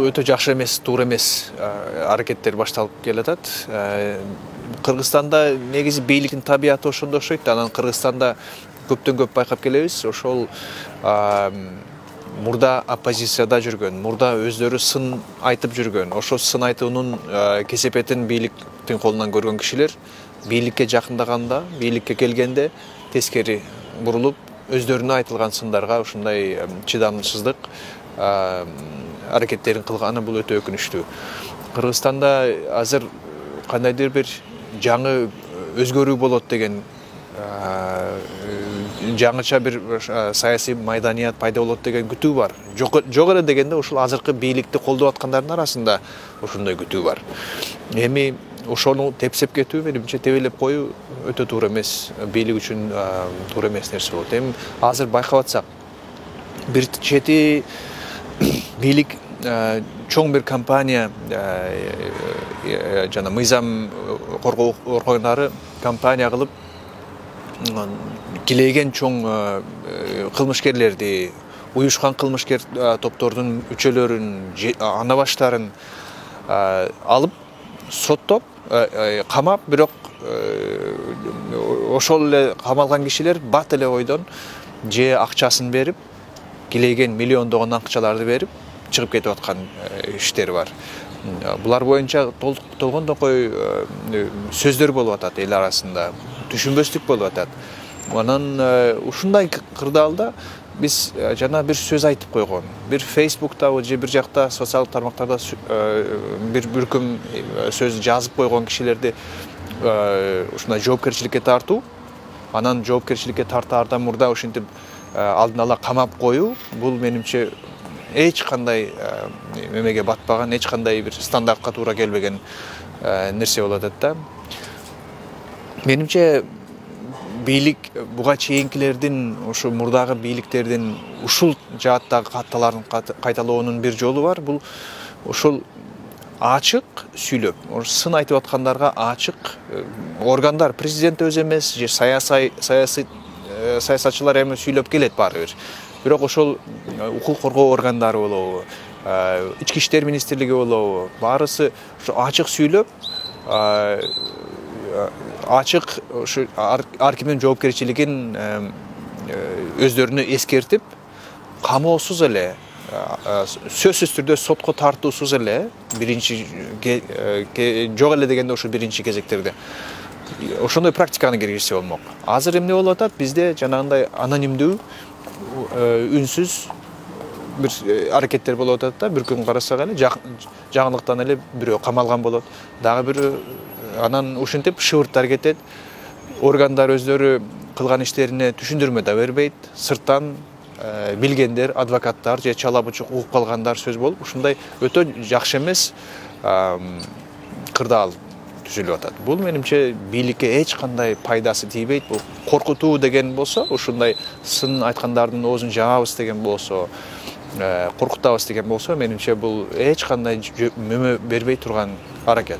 Өтө жакшы эмес, туура эмес аракеттер башталып келатат. Кыргызстанда негизи бийликтин табияты ошондой окшойт. Анан Кыргызстанда көптөн көп байкап келебиз. Ошол мурда оппозицияда жүргөн, мурда өздөрү сын айтып жүргөн, ошол сын айтуунун кесепетин бийликтин колунан көргөн кишилер бийликке жакындаганда, бийликке келгенде тескери бурулуп, өздөрүнө айтылган сындарга ушундай чыдамсыздык аракеттерин кылганы бул өтө өкүнүчтүү. Кыргызстанда азыр кандайдыр бир жаңы өзгөрүү болот деген жаңыча бир саясий майданият пайда болот деген күтүү бар. Жок эле дегенде ушул азыркы бийликти колдоп аткандардын арасында ошондой күтүү бар. Эми ошону тепсеп кетүү, менимче тебелеп коюу өтө туура эмес, бийлик үчүн туура эмес нерсе болот. Эми азыр байкап атсак, бир чети бийлик чоң бир компания жана мыйзам коргоо органдары компания кылып килейген чоң кылмышкерлерди, уюшкан кылмышкер топтордун үчөлөрүн, ана баштарын алып, соттоп, камап, бирок ошол эле камалган кишилер бат эле ойдон же акчасын берип, килейген миллиондогон акчаларды берип, чыгып кетип аткан иштер бар. Булар боюнча толгондокой сөздөр болуп атат эл арасында, түшүнбөстүк болуп атат. Анан ушундай кырдаалда биз жана бир сөз айтып койгон. Бир Facebook'табы же бир жакта социалдык тармактарда бир бүркүм сөз жазып койгон кишилерди ушундай жоопкерчиликке тартуу, анан жоопкерчиликке тартаардан мурда ушинтип алдын ала камап коюу, бул менимче эч кандай эмеге батпаган, эч кандай бир стандартка туура келбеген нерсе болуп атат да. Менимче бийлик буга чейинкилердин, ушу мурдагы бийликтердин ушул жааттагы катталарын кайталоонун бир жолу бар. Бул ушул ачык сүйлөп, сын айтып аткандарга ачык органдар, президент өзү эмес, же саясатчылар эми сүйлөп келет баары бир. Бирок ошол укук коргоо органдары болобу, ички иштер министрлиги болобу, баарысы ушу ачык сүйлөп, ачык ушу ар кимдин жоопкерчилигин өздөрүнө эскертип, камоосуз эле, сөзсүз түрдө сотко тартуусуз эле, биринчи жок эле дегенде ошо биринчи кезектерде ошондой практиканы киргизсе болмок. Азыр эмне болуп атат? Бизде жанагындай анонимдүү, үнсүз бир аракеттер болуп атат да. Бир күн карасак эле жаңылыктан эле бирөө камалган болот. Дагы бир анан ушинтип шыбырттар кетет. Органдар өздөрү кылган иштерине түшүндүрмө да бербейт. Сырттан билгендер, адвокаттар же чала бучук угуп калгандар сөз болуп, ушундай өтө жакшы эмес кырдаал түзүлүп атат. Бул менимче бийликке эч кандай пайдасы тийбейт. Бул коркутуу деген болсо, ушундай сын айткандардын оозун жаабыз деген болсо, коркутабыз деген болсо, менимче бул эч кандай мөмө бербей турган аракет.